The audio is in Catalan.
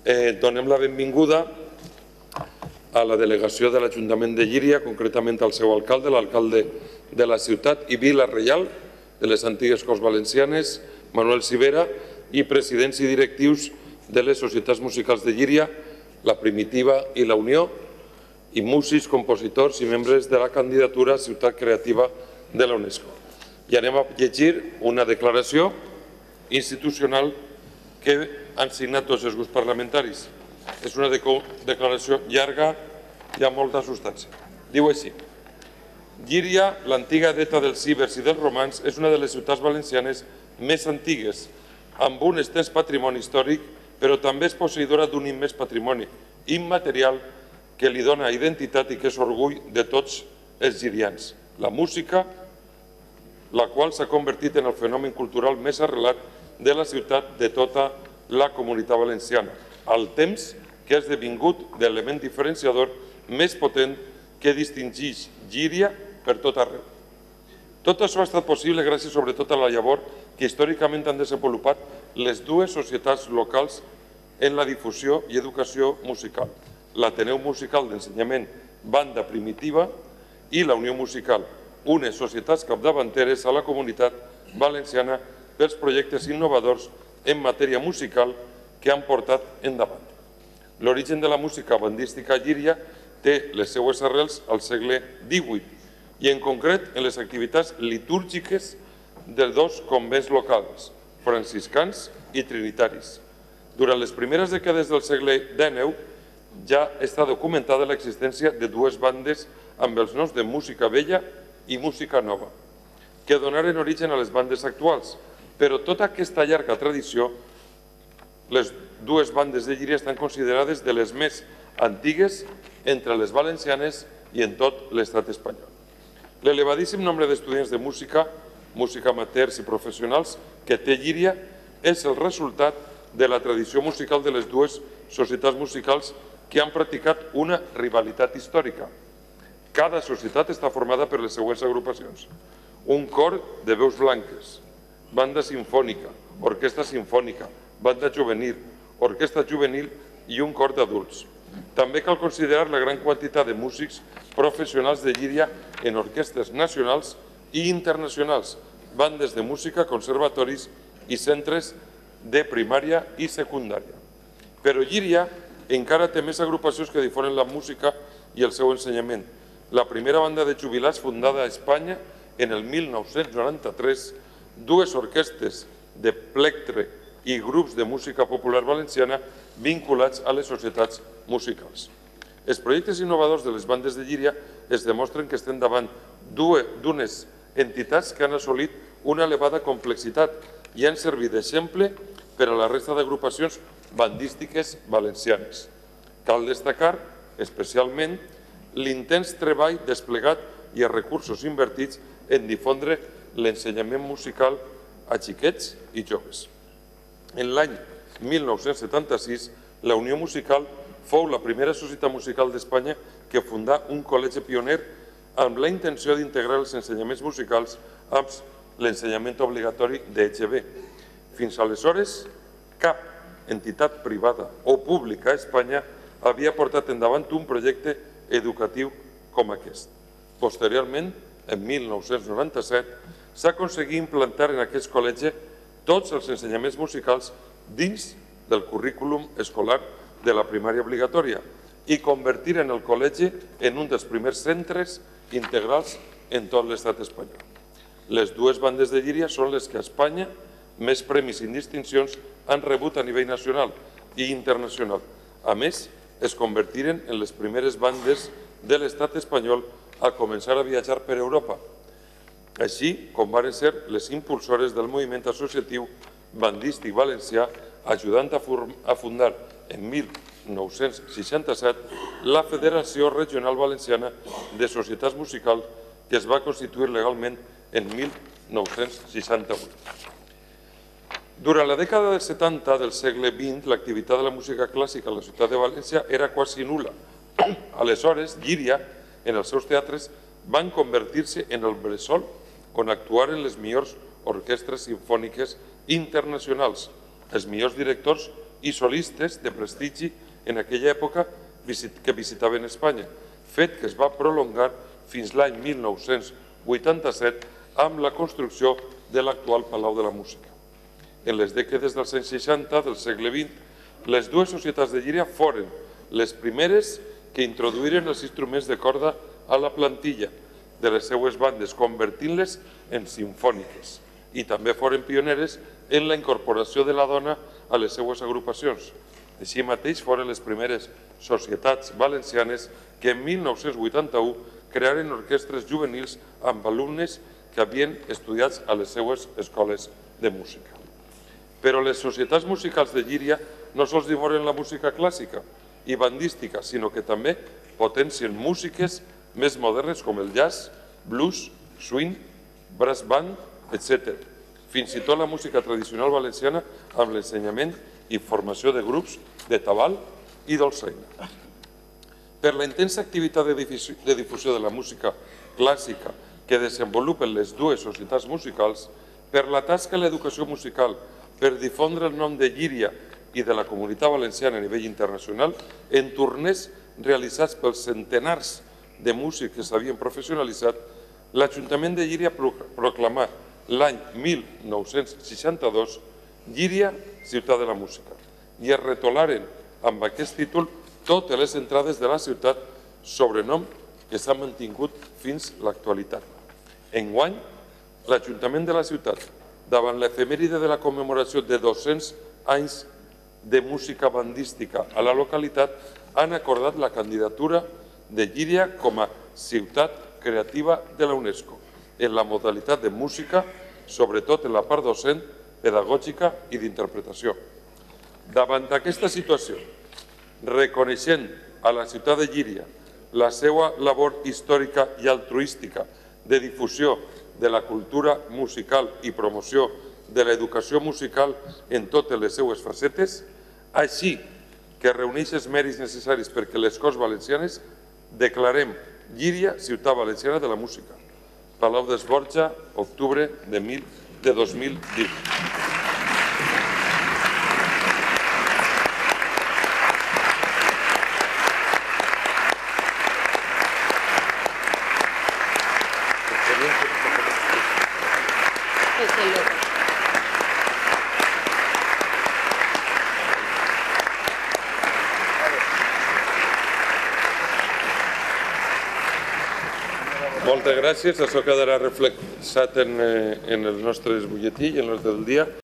Donem la benvinguda a la delegació de l'Ajuntament de Llíria, concretament al seu alcalde, l'alcalde de la ciutat i vila reial de les antigues Corts Valencianes, Manuel Civera, i presidents i directius de les societats musicals de Llíria, la Primitiva i la Unió, i músics, compositors i membres de la candidatura Ciutat Creativa de la UNESCO. I anem a llegir una declaració institucional que han signat tots els grups parlamentaris. És una declaració llarga i amb molta substància. Diu així: Llíria, l'antiga deta dels cíbers i dels romans, és una de les ciutats valencianes més antigues, amb un extens patrimoni històric, però també és posseïdora d'un immens patrimoni immaterial que li dona identitat i que és orgull de tots els llirians. La música, la qual s'ha convertit en el fenomen cultural més arrelat de la ciutat de tota la comunitat valenciana, al temps que ha esdevingut l'element diferenciador més potent que distingeix Llíria per tot arreu. Tot això ha estat possible gràcies sobretot a la llavor que històricament han desenvolupat les dues societats locals en la difusió i educació musical, l'Ateneu Musical d'Ensenyament Banda Primitiva i la Unió Musical, unes societats capdavanteres a la comunitat valenciana pels projectes innovadors en matèria musical que han portat endavant. L'origen de la música bandística a Llíria té les seues arrels al segle XVIII i en concret en les activitats litúrgiques de dos convents locals, franciscans i trinitaris. Durant les primeres dècades del segle XIX ja està documentada l'existència de dues bandes amb els noms de música vella i música nova, que donaren origen a les bandes actuals, però tota aquesta llarga tradició, les dues bandes de Llíria estan considerades de les més antigues entre les valencianes i en tot l'estat espanyol. L'elevadíssim nombre d'estudiants de música, música amateurs i professionals que té Llíria és el resultat de la tradició musical de les dues societats musicals que han practicat una rivalitat històrica. Cada societat està formada per les següents agrupacions: un cor de veus blanques, banda sinfònica, orquestra sinfònica, banda juvenil, orquestra juvenil i un cor d'adults. També cal considerar la gran quantitat de músics professionals de Llíria en orquestres nacionals i internacionals, bandes de música, conservatoris i centres de primària i secundària. Però Llíria encara té més agrupacions que difonen la música i el seu ensenyament. La primera banda de jubilats fundada a Espanya en el 1993, dues orquestres de plectre i grups de música popular valenciana vinculats a les societats musicals. Els projectes innovadors de les bandes de Llíria es demostren que estem davant d'unes entitats que han assolit una elevada complexitat i han servit d'exemple per a la resta d'agrupacions bandístiques valencianes. Cal destacar especialment l'intens treball desplegat i els recursos invertits en difondre l'ensenyament musical a xiquets i joves. En l'any 1976, la Unió Musical fou la primera societat musical d'Espanya que fundà un col·legi pioner amb la intenció d'integrar els ensenyaments musicals amb l'ensenyament obligatori d'EGB. Fins aleshores, cap entitat privada o pública a Espanya havia portat endavant un projecte educatiu com aquest. Posteriorment, en 1997, s'aconseguí implantar en aquest col·legi tots els ensenyaments musicals dins del currículum escolar de la primària obligatòria i convertir el col·legi en un dels primers centres integrals en tot l'estat espanyol. Les dues bandes de Llíria són les que a Espanya més premis i distincions han rebut a nivell nacional i internacional. A més, es convertiren en les primeres bandes de l'estat espanyol a començar a viatjar per Europa, així com van ser les impulsores del moviment associatiu bandístic valencià, ajudant a fundar en 1967 la Federació Regional Valenciana de Societats Musicals, que es va constituir legalment en 1968. Durant la dècada dels 70 del segle XX, l'activitat de la música clàssica a la ciutat de València era quasi nul·la. Aleshores, Llíria, en els seus teatres, van convertir-se en el bressol on actuaren les millors orquestres simfòniques internacionals, els millors directors i solistes de prestigi en aquella època que visitaven Espanya, fet que es va prolongar fins l'any 1987 amb la construcció de l'actual Palau de la Música. En les dècades dels anys 60 del segle XX, les dues societats de Llíria foren les primeres que introduïren els instruments de corda a la plantilla de les seues bandes, convertint-les en simfòniques, i també foren pioneres en la incorporació de la dona a les seues agrupacions. Així mateix foren les primeres societats valencianes que en 1981 crearen orquestres juvenils amb alumnes que havien estudiat a les seues escoles de música. Però les societats musicals de Llíria no sols devoren la música clàssica i bandística, sinó que també potencien músiques més modernes com el jazz, blues, swing, brass band, etc. Fins i tot la música tradicional valenciana amb l'ensenyament i formació de grups de tabal i dolçaina. Per la intensa activitat de difusió de la música clàssica que desenvolupen les dues societats musicals, per la tasca a l'educació musical, per difondre el nom de Llíria i de la comunitat valenciana a nivell internacional, en torners realitzats pels centenars de músics que s'havien professionalitzat, l'Ajuntament de Llíria proclamà l'any 1962 Llíria, ciutat de la música, i es retolaren amb aquest títol totes les entrades de la ciutat, sobrenom que s'ha mantingut fins l'actualitat. Enguany, l'Ajuntament de la ciutat, davant l'efemèride de la commemoració de 200 anys de música bandística a la localitat, han acordat la candidatura de Llíria com a ciutat creativa de la UNESCO, en la modalitat de música, sobretot en la part docent, pedagògica i d'interpretació. Davant d'aquesta situació, reconeixent a la ciutat de Llíria la seva labor històrica i altruística de difusió de la cultura musical i promoció de l'educació musical en totes les seues facetes, així que reuneix els mèrits necessaris perquè les Corts Valencianes declarem Llíria ciutat valenciana de la música. Palau d'Esborja, octubre de 2020. Moltes gràcies. Això quedarà reflexat en el nostre butlletí i en l'ordre del dia.